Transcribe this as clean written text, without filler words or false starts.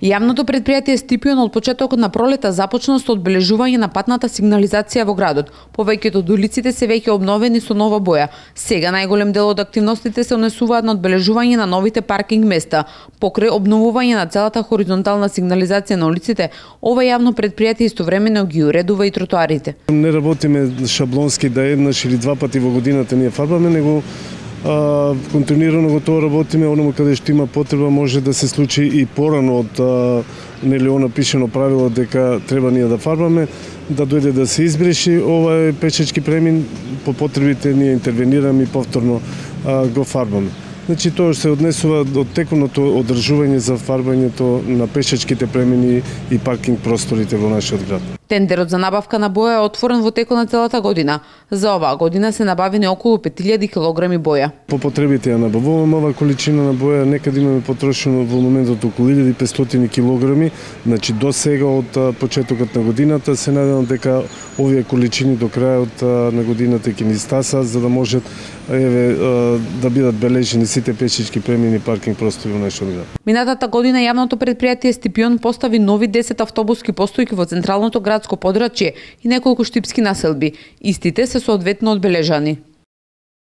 Јавното предпријатие Стипион од почетокот на пролета започна со одбележување на патната сигнализација во градот. Повеќето од улиците се веќе обновени со нова боја. Сега најголем дел од активностите се однесуваат на одбележување на новите паркинг места. Покрај обновување на целата хоризонтална сигнализација на улиците, ова јавно предпријатие истовремено ги уредува и тротоарите. Не работиме шаблонски да еднаш или два пати во годината ние фарбаме, него континуирано го тоа работиме, оному каде што има потреба може да се случи и порано од нели она пишено правило дека треба ние да фарбаме, да дојде да се избреши ова пешачки премин, по потребите ние интервенираме и повторно го фарбаме. Значи тоа се однесува од текуното одржување за фарбањето на пешачките премини и паркинг просторите во нашиот град. Тендерот за набавка на боја е отворен во текот на целата година. За оваа година се набавени околу 5000 килограми боја. По потребите ја набавуваме оваа количина на боја, некаде имаме потрошено во моментот околу 1500 килограми, значи до сега од почетокот на годината се надевам дека овие количини до крајот на годината ќе ни стасаат за да можат да бидат бележени сите пешачки премини и паркинг простори во нашиот град. Минатата година јавното предпријатие Стипион постави нови 10 автобуски постојки во централното градско подрачје и неколку штипски населби. Истите се соодветно одбележани.